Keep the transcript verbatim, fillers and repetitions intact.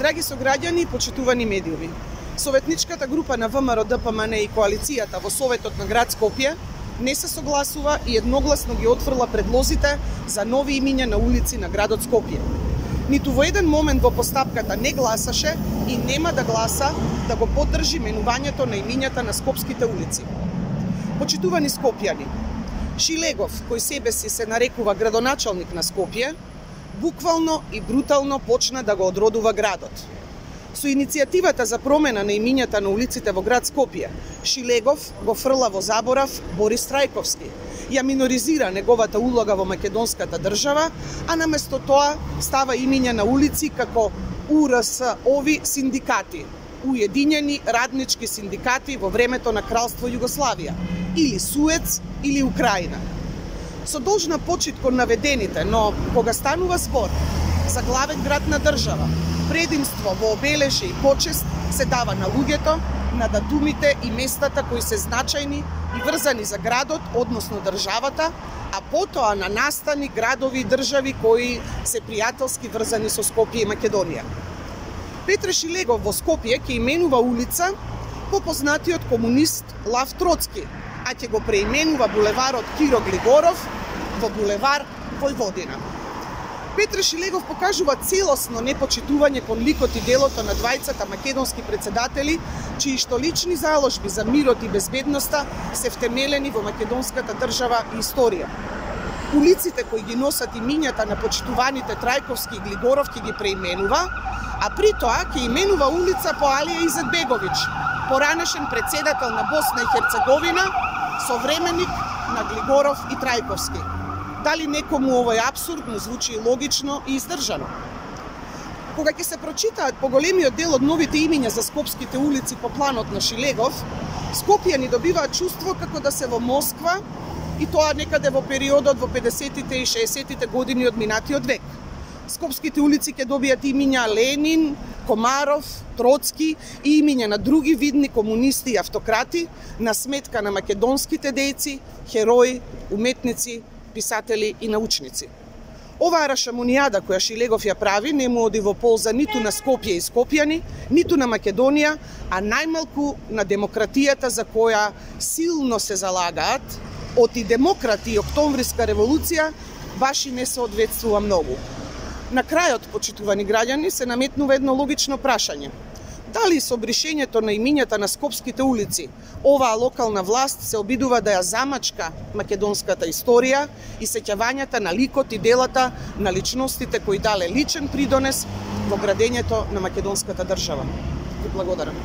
Драги сограѓани и почитувани медиуми, Советничката група на ВМРО-ДПМН и коалицијата во Советот на град Скопје не се согласува и едногласно ги отфрла предлозите за нови имиња на улици на градот Скопје. Ниту во еден момент во постапката не гласаше и нема да гласа да го поддржи менувањето на имињата на скопските улици. Почитувани скопјани, Шилегов, кој себе си се нарекува градоначалник на Скопје, буквално и брутално почна да го одродува градот. Со иницијативата за промена на имињата на улиците во град Скопје, Шилегов го фрла во заборав Борис Трајковски, ја миноризира неговата улога во македонската држава, а наместо тоа става имиња на улици како У Р С ови синдикати, Уединени раднички синдикати во времето на Кралство Југославија, или Суец, или Украина. Со должна почит кон наведените, но кога станува збор за главен град на држава, предимство во обележи и почест се дава на луѓето, на датумите и местата кои се значајни и врзани за градот, односно државата, а потоа на настани, градови и држави кои се пријателски врзани со Скопје и Македонија. Петре Шилегов во Скопје ќе именува улица по познатиот комунист Лав Троцки, а ќе го преименува булеварот Киро Глигоров во булевар Војводина. Петре Шилегов покажува целосно непочитување кон ликот и делото на двајцата македонски председатели, чии што лични заложби за мирот и безбедноста се втемелени во македонската држава и историја. Улиците кои ги носат имињата на почитуваните Трајковски и Глигоров ќе ги преименува, а при тоа ќе именува улица по Алија Изетбеговиќ, поранешен председател на Босна и Херцеговина, современик на Глигоров и Трајковски. Дали некому овој апсурд му звучи логично и издржано? Кога ќе се прочитаат поголемиот дел од новите имиња за скопските улици по планот на Шилегов, скопјани добиваат чувство како да се во Москва, и тоа некаде во периодот во педесетите и шеесеттите години од минатиот век. Скопските улици ќе добијат имиња Ленин, Комаров, Троцки и имиња на други видни комунисти и автократи на сметка на македонските дејци, херои, уметници, писатели и научници. Оваа рашамонијада која Шилегов ја прави не му оди во полза ниту на Скопје и скопјани, ниту на Македонија, а најмалку на демократијата за која силно се залагаат од и демократи и Октомвриска револуција баш и не се одветствува многу. На крајот, почитувани граѓани, се наметнува едно логично прашање. Дали со бришењето на имињата на скопските улици, оваа локална власт се обидува да ја замачка македонската историја и сеќавањата на ликот и делата на личностите кои дале личен придонес во градењето на македонската држава? Ви благодарам.